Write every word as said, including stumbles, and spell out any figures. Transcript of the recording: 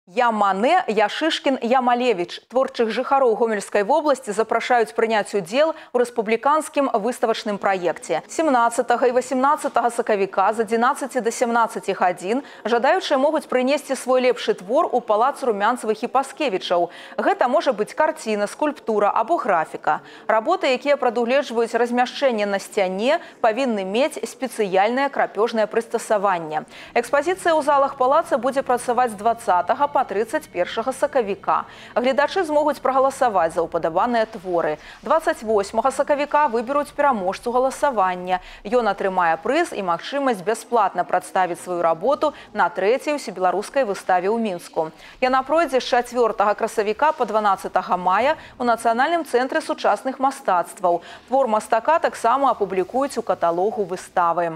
Я Мане, я Шишкін, я Малевич. Творчых жыхароў Гомельскай вобласці запрашаюць прыняць удзел у рэспубліканскім выставачным праекце. семнадцатага і восемнадцатага сакавіка з адзінаццаці да сямнаццаці гадзін жадаючыя могуць прынесці свой лепшы твор у палац Румянцевых і Паскевічаў. Гэта можа быць карціна, скульптура або графіка. Работы, якія прадугледжваюць размяшчэнне на сцяне, павінны мець спецыяльнае крапёжнае прыстасаванне. Экспазіцыя ў залах палаца будзе працаваць з дваццатага па трыццаць першага сакавіка. Гледачы змогуць прагаласаваць за ўпадабаныя творы. дваццаць восьмага сакавіка выберуць пераможцу галасавання. Ён атрымае прыз і магчымасць бясплатна прадставіць сваю работу на трэцяй усебеларускай выставе ў Мінску. Яна пройдзе з чацвёртага красавіка па дванаццатага мая у Нацыянальным цэнтры сучасных мастацтваў. Твор мастака таксама апублікуюць у каталогу выставы.